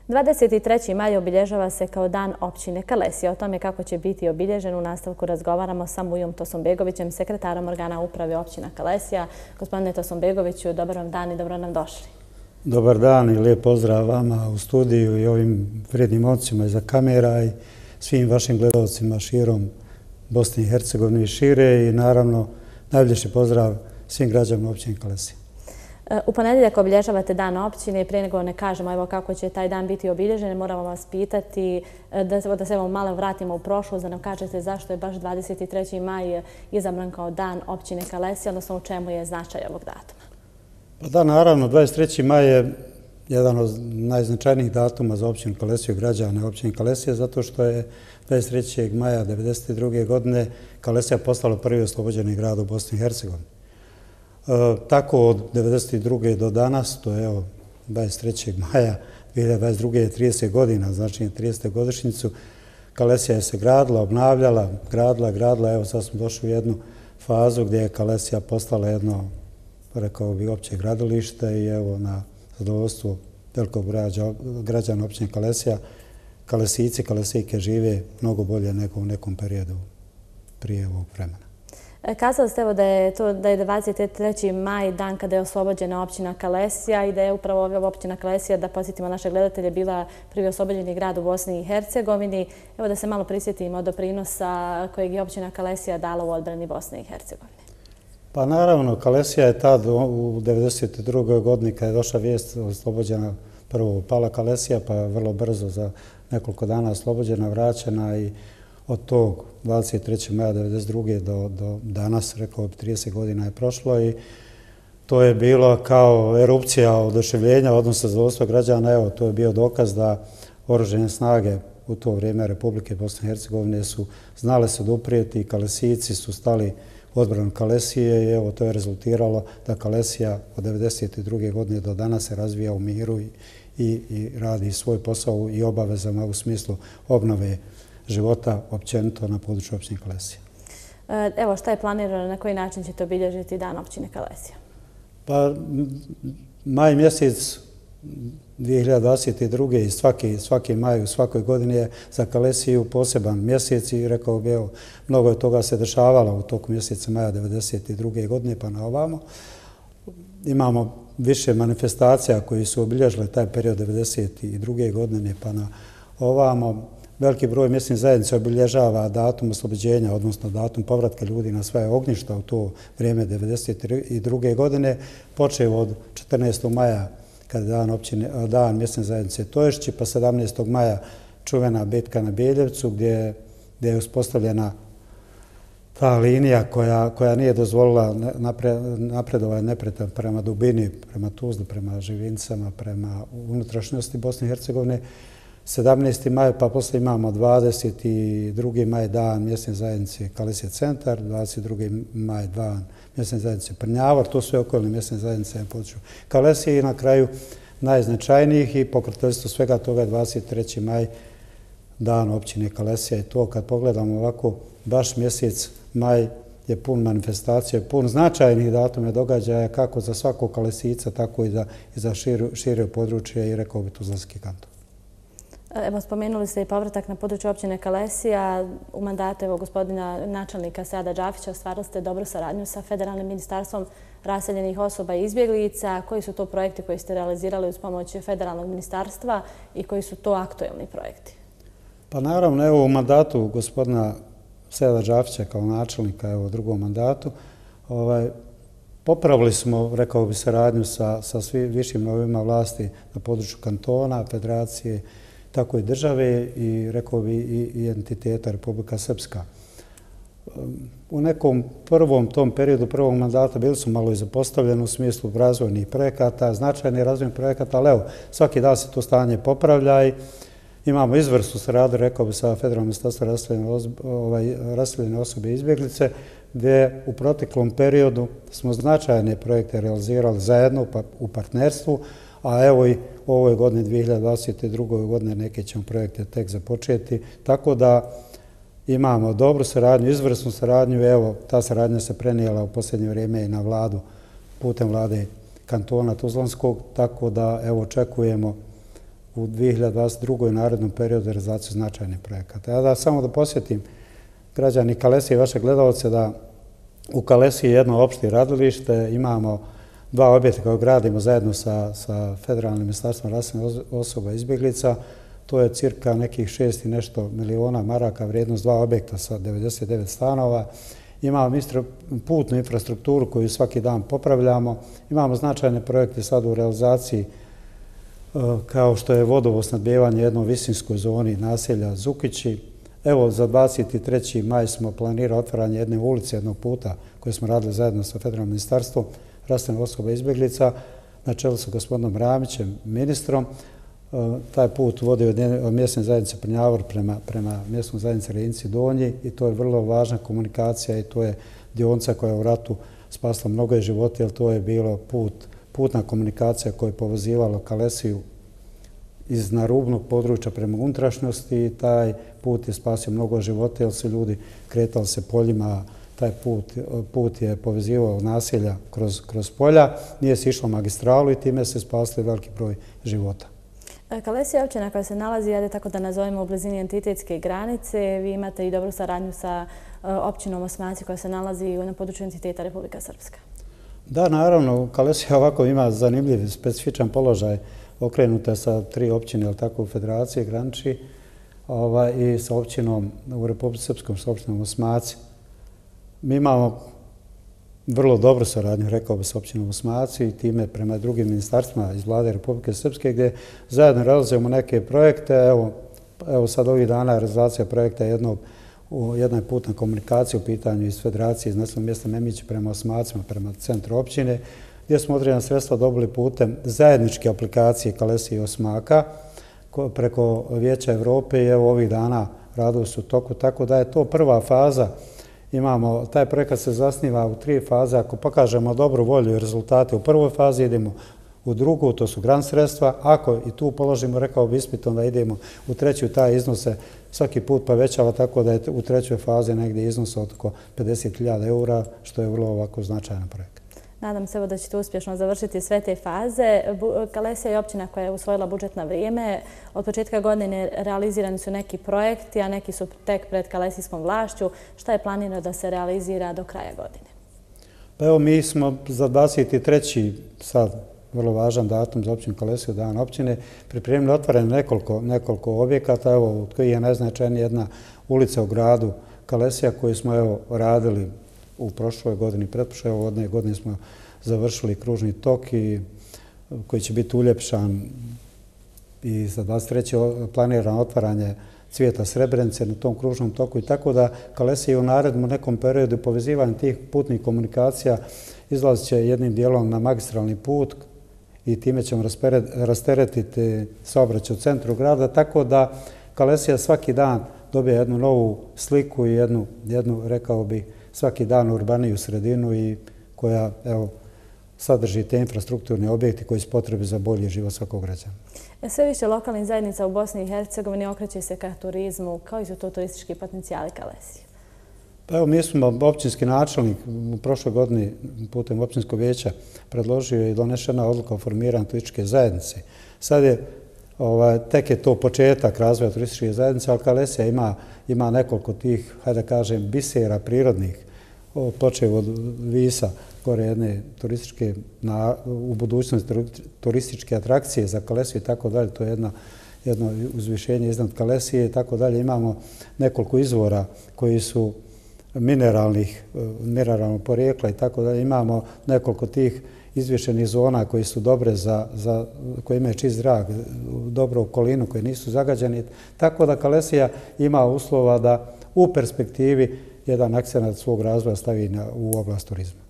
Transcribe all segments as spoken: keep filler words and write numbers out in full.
dvadeset treći maj obilježava se kao dan općine Kalesija. O tome kako će biti obilježen u nastavku razgovaramo sa Mujom Tosombegovićem, sekretarom organa uprave općina Kalesija. Gospodine Tosombegoviću, dobar vam dan i dobro nam došli. Dobar dan i lijep pozdrav vama u studiju i ovim vrijednim ocima iza kamera i svim vašim gledalcima širom Bosne i Hercegovine i šire i naravno najljepši pozdrav svim građanima općine Kalesija. U ponedjeljak obilježavate dan općine i prije nego ne kažemo evo kako će taj dan biti obilježen, moramo vas pitati da, da se evo malo vratimo u prošlost, da nam kažete zašto je baš dvadeset treći maj izabran kao dan općine Kalesija, odnosno u čemu je značaj ovog datuma. Pa da, naravno, dvadeset treći maj je jedan od najznačajnijih datuma za općinu Kalesiju, građane općine Kalesije, zato što je dvadeset trećeg maja devedeset druge godine Kalesija postala prvi oslobođeni grad u Bosni i Hercegovini. E, tako od devedeset druge do danas, to je evo dvadeset trećeg maja dvije hiljade dvadeset druge je trideset godina, znači tridesetu godišnjicu, Kalesija je se gradila, obnavljala, gradila, gradila, evo sad smo došli u jednu fazu gdje je Kalesija postala jedno, rekao bi, opće gradilište i evo na zadovoljstvo velikog građana općine Kalesija, Kalesijci, Kalesijke žive mnogo bolje nego u nekom periodu prije ovog vremena. Kazali ste evo da je to da je dvadeset treći maj dan kada je oslobođena općina Kalesija i da je upravo ova općina Kalesija, da podsjetimo naše gledatelje, bila prvi oslobođeni grad u Bosni i Hercegovini. Evo da se malo prisjetimo doprinosa kojeg je općina Kalesija dala u odbrani Bosne i Hercegovine. Pa naravno, Kalesija je tad u devedeset drugoj godini kada je došla vijest oslobođena, prvo pala Kalesija, pa vrlo brzo za nekoliko dana oslobođena, vraćena i od tog dvadeset trećeg maja devedeset druge do, do danas, rekao bi, trideset godina je prošlo i to je bilo kao erupcija oduševljenja, odnosno zadovoljstva građana. Evo, to je bio dokaz da oružane snage u to vrijeme Republike Bosne i Hercegovine su znale se oduprijeti i Kalesijci su stali u odbranu Kalesije i evo to je rezultiralo da Kalesija od devedeset druge godine do danas se razvija u miru i, i, i radi svoj posao i obavezama u smislu obnove života općenito na području općine Kalesija. Evo šta je planirano, na koji način ćete obilježiti dan općine Kalesija? Pa maj mjesec dvije hiljade dvadeset druge i svaki, svaki maj u svakoj godini je za Kalesiju poseban mjesec i rekao bi, evo, mnogo je toga se dešavalo u toku mjeseca maja devedeset druge godine pa na ovamo. Imamo više manifestacija koji su obilježile taj period devedeset druge godine pa na ovamo. Veliki broj mjesnih zajednica obilježava datum oslobođenja, odnosno datum povratka ljudi na svoje ognjišta u to vrijeme devedeset druge godine, počeo od četrnaestog maja kada je dan, općine, dan mjesne zajednice Toješći, pa sedamnaestog maja čuvena bitka na Beljevcu gdje, gdje je uspostavljena ta linija koja, koja nije dozvolila napre, napredovanje neprijatelja prema dubini, prema Tuzli, prema Živincama, prema unutrašnjosti Bosne i Hercegovine. sedamnaesti maj, pa poslije imamo dvadeset drugi maj dan mjesne zajednice Kalesija centar, dvadeset drugi maj dan mjesne zajednice Prnjavor, to sve okolne mjesne zajednice na području Kalesije i na kraju najznačajnijih i pokroviteljstvo svega toga je dvadeset treći maj dan općine Kalesija i to kad pogledamo ovako baš mjesec maj je pun manifestacija, pun značajnih datuma događaja kako za svakog Kalesijca, tako i za, i za šire područje i rekao bi Tuzlanski kanton. Evo, spomenuli ste i povratak na području općine Kalesija. U mandatu evo, gospodina načelnika Seada Džafića ostvarili ste dobru saradnju sa Federalnim ministarstvom raseljenih osoba i izbjeglica. Koji su to projekti koji ste realizirali uz pomoć Federalnog ministarstva i koji su to aktuelni projekti? Pa naravno, evo u mandatu gospodina Seada Džafića kao načelnika, evo u drugom mandatu, ovaj, popravili smo, rekao bi, saradnju sa, sa svim višim nivoima vlasti na području kantona, federacije, tako i države i, rekao bi, i, i entiteta Republika Srpska. U nekom prvom tom periodu prvog mandata bili su malo i zapostavljeni u smislu razvojnih projekata, značajnih razvojnih projekata, ali evo, svaki dan se to stanje popravlja i imamo izvrsnu saradnju, rekao bi, sa Federalnom ministarstvom raseljene osobe i izbjeglice, gdje u proteklom periodu smo značajne projekte realizirali zajedno u partnerstvu, a evo i u ovoj godini dvije hiljade dvadeset druge godine neke ćemo projekte tek započeti, tako da imamo dobru saradnju, izvrsnu saradnju. Evo, ta saradnja se prenijela u posljednje vrijeme i na vladu, putem vlade kantona Tuzlanskog, tako da evo očekujemo u dvije hiljade dvadeset drugoj narednom periodu realizaciju značajnih projekata. Ja da samo da posjetim građani Kalesije i vaše gledalce da u Kalesiji je jedno opšte radilište, imamo dva objekta koje gradimo zajedno sa, sa Federalnim ministarstvom raseljenih osoba i izbjeglica. To je cirka nekih šest i nešto miliona maraka vrijednost dva objekta sa devedeset devet stanova. Imamo putnu infrastrukturu koju svaki dan popravljamo. Imamo značajne projekte sad u realizaciji kao što je vodovosnabdijevanje u jednoj visinskoj zoni naselja Zukići. Evo, za dvadeset treći maj smo planirali otvaranje jedne ulice, jednog puta koje smo radili zajedno sa Federalnim ministarstvom raseljenih osoba i izbjeglica na čelu sa gospodinom Ramićem, ministrom. Taj put vodi od mjesne zajednice Prnjavor prema, prema mjesnoj zajednici Rinci Donji i to je vrlo važna komunikacija i to je dionica koja je u ratu spasla mnogo života, jer to je bilo put, putna komunikacija koja je povezivala Kalesiju iz narubnog područja prema unutrašnjosti i taj put je spasio mnogo života jer su ljudi kretali se poljima, taj put, put je povezivao naselja kroz, kroz polja, nije se išlo magistralu i time se spasli veliki broj života. Kalesija je općina koja se nalazi, ajde tako da nazovemo, u blizini entitetske granice. Vi imate i dobru saradnju sa općinom Osmaci koja se nalazi na području entiteta Republika Srpska. Da, naravno, Kalesija ovako ima zanimljiv, specifičan položaj, okrenuta sa tri općine, ali tako u federaciji graniči, ovaj, i sa općinom u Republici Srpskom, sa općinom Osmaci. Mi imamo vrlo dobru saradnju, rekao bi, sa općinom Osmaci i time prema drugim ministarstvima iz vlade Republike Srpske gdje zajedno realizujemo neke projekte. Evo, evo sad ovih dana realizacija projekta jednog, jedna je putna komunikacija u pitanju iz federacije iz naseljenog mjesta Memić prema Osmacima, prema centru općine, gdje smo određena sredstva dobili putem zajedničke aplikacije Kalesije i Osmaka preko Vijeća Evrope i evo ovih dana radovi su u toku, tako da je to prva faza. Imamo, taj projekat se zasniva u tri faze. Ako pokažemo dobru volju i rezultate u prvoj fazi, idemo u drugu, to su grant sredstva. Ako i tu položimo, rekao bi ispit, onda idemo u treću, taj iznos se svaki put povećava, tako da je u trećoj fazi negdje iznos od oko pedeset hiljada eura, što je vrlo ovako značajan projekt. Nadam se da ćete uspješno završiti sve te faze. Kalesija je općina koja je usvojila budžet na vrijeme. Od početka godine realizirani su neki projekti, a neki su tek pred kalesijskom vlašću. Šta je planirano da se realizira do kraja godine? Pa evo, mi smo za dvadeset treći sad vrlo važan datum za općinu Kalesiju, dan općine, pripremili otvaranje nekoliko, nekoliko objekata, evo, od kojih je najznačajnija jedna ulica u gradu Kalesija koju smo evo radili u prošloj godini, pretprošloj odne godine smo završili kružni tok i koji će biti uljepšan i za dvadeset treći planirano otvaranje cvijeta Srebrenice na tom kružnom toku i tako da Kalesija u narednom nekom periodu povezivanja tih putnih komunikacija izlazit će jednim dijelom na magistralni put i time ćemo rasteretiti saobraćaj u centru grada, tako da Kalesija svaki dan dobije jednu novu sliku i jednu, jednu rekao bi, svaki dan urbaniju sredinu i koja, evo, sadrži te infrastrukturne objekte koji su potrebi za bolji život svakog građana. Sve više lokalnih zajednica u Bosni i Hercegovini okreće se ka turizmu. Koji su to turistički potencijali Kalesije? Pa evo, mi smo općinski načelnik u prošloj godini putem općinskog vijeća predložio i donešena odluka o formiranju turističke zajednice. Sad je, ovaj, tek je to početak razvoja turističke zajednice, ali Kalesija ima, ima nekoliko tih, hajde da kažem, bisera prirodnih, počeo od Visa, gore jedne turističke, na, u budućnosti turističke atrakcije za Kalesiju i tako dalje. To je jedno, jedno uzvišenje iznad Kalesije i tako dalje. Imamo nekoliko izvora koji su mineralnih, mineralnog porijekla i tako dalje. Imamo nekoliko tih izvješenih zona koji su dobre za, za koje imaju čist zrak, dobru okolinu, koje nisu zagađeni. Tako da Kalesija ima uslova da u perspektivi jedan akcenat svog razvoja stavi na, u oblast turizma.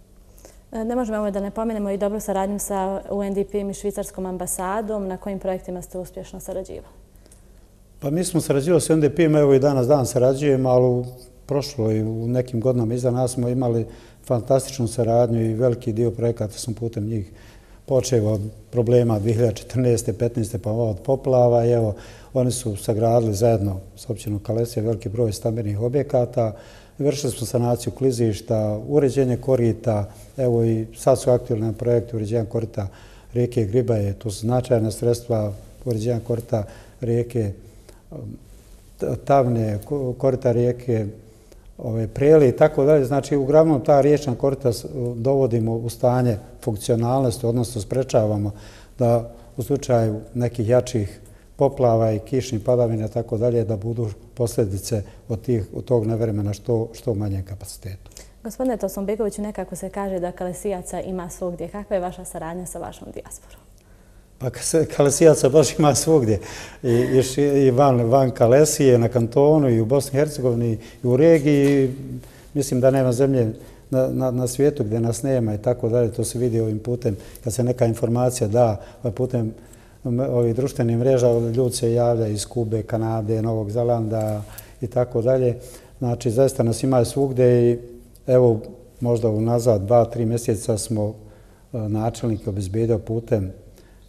Ne možemo ovo da ne pomenemo i dobru saradnju sa U N D P-om i švicarskom ambasadom. Na kojim projektima ste uspješno sarađivali? Pa mi smo sarađivali s U N D P-om, evo i danas dan sarađujemo, ali u prošloj, u nekim godinama iza nas smo imali fantastičnu saradnju i veliki dio projekata sam putem njih počeo od problema dvije hiljade četrnaeste. petnaeste pa od poplava i evo, oni su sagradili zajedno s općinom Kalesija veliki broj stambenih objekata. Vršili smo sanaciju klizišta, uređenje korita, evo i sad su aktivni na projektu uređenja korita rijeke Gribaje. To su značajna sredstva uređenja korita rijeke Tavne, korita rijeke Preli i tako dalje. Znači, uglavnom ta riječna korita dovodimo u stanje funkcionalnosti, odnosno sprečavamo da u slučaju nekih jačih poplava i kišnih padavina i tako dalje da budu posljedice od, tih, od tog nevremena što, što manje kapacitetu. Gospodine Tosunbegoviću, nekako se kaže da Kalesijaca ima svugdje. Kakva je vaša saradnja sa vašom dijasporom? Pa Kalesijaca baš ima svugdje. I, i, i van, van Kalesije, na kantonu, i u Bosni i Hercegovini, i u regiji. Mislim da nema zemlje na, na, na svijetu gdje nas nema i tako dalje. To se vidi ovim putem. Kad se neka informacija da putem ovih društvenih mreža, ljudi se javljaju iz Kube, Kanade, Novog Zelanda i tako dalje. Znači, zaista nas ima svugdje i evo, možda unazad dva, tri mjeseca smo načelnike obezbijedio putem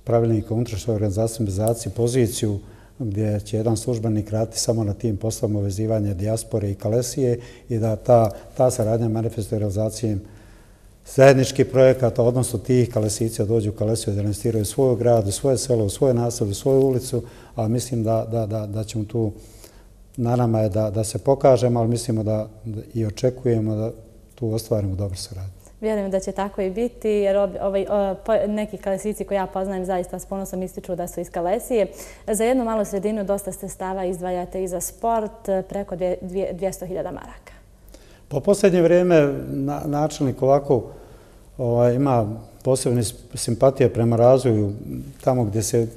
pravilnika unutrašnje organizacije organizacije poziciju gdje će jedan službenik raditi samo na tim poslovima vezivanja dijaspore i Kalesije i da ta, ta saradnja manifestuje realizacijom zajedničkih projekata, odnosno tih Kalesijica dođu u Kalesiju da investiraju u svoj grad, u svoje selo, u svoje naselje, u svoju ulicu, a mislim da, da, da, da ćemo tu, na nama je da, da se pokažemo, ali mislimo da, da i očekujemo da tu ostvarimo dobru saradnju. Vjerujem da će tako i biti, jer ovaj, neki Kalesijici koje ja poznajem zaista s ponosom ističu da su iz Kalesije. Za jednu malu sredinu dosta stava izdvajate i za sport, preko dvjesto hiljada maraka. Po posljednje vrijeme načelnik ovako ovaj, ima posebne simpatije prema razvoju tamo gdje se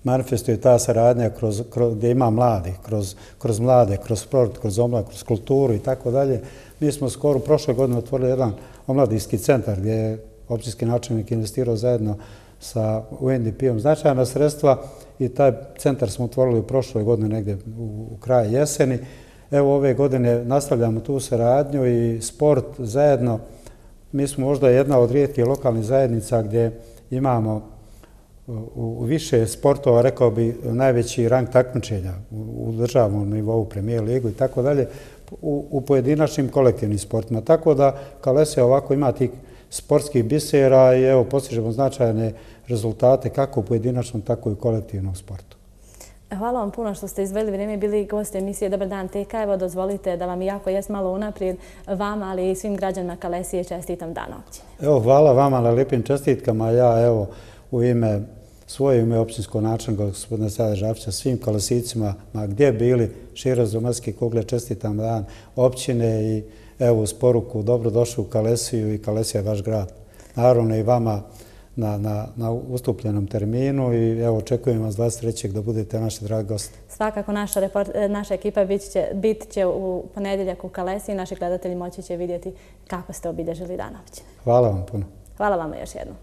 manifestuje ta saradnja kroz, kroz, gdje ima mladi, kroz, kroz mlade, kroz sport, kroz omlad, kroz kulturu i tako dalje. Mi smo skoro prošle godine otvorili jedan omladinski centar gdje je općinski načelnik investirao zajedno sa U N D P-om značajna sredstva i taj centar smo otvorili u prošloj godini negdje u, u kraju jeseni. Evo ove godine nastavljamo tu saradnju i sport zajedno. Mi smo možda jedna od rijetkih lokalnih zajednica gdje imamo u više sportova, rekao bi, najveći rang takmičenja u državnom nivou, premijer ligu i tako dalje, u pojedinačnim kolektivnim sportima. Tako da Kalesija ovako ima tih sportskih bisera i evo postižemo značajne rezultate kako u pojedinačnom, tako i u kolektivnom sportu. Hvala vam puno što ste izveli vrijeme i bili gosti emisije Dobar dan T K. Evo dozvolite da vam iako jest malo unaprijed vama, ali i svim građanima Kalesije čestitam dan općine. Evo, hvala vama na lijepim čestitkama. Ja evo u ime svoje ime općinskog načelnika gospodina Sada Žafića svim Kalesijcima, ma gdje bili šire zemaljske kugle, čestitam dan općine i evo uz poruku dobrodošli u Kalesiju i Kalesija je vaš grad. Naravno i vama na, na, na ustupljenom terminu i evo očekujem vas dvadeset trećeg da budete naši dragi gosti. Svakako naša, report, naša ekipa bit će, bit će u ponedjeljak u Kalesiji. Naši gledatelji moći će vidjeti kako ste obilježili dan općine. Hvala vam puno. Hvala vama još jednom.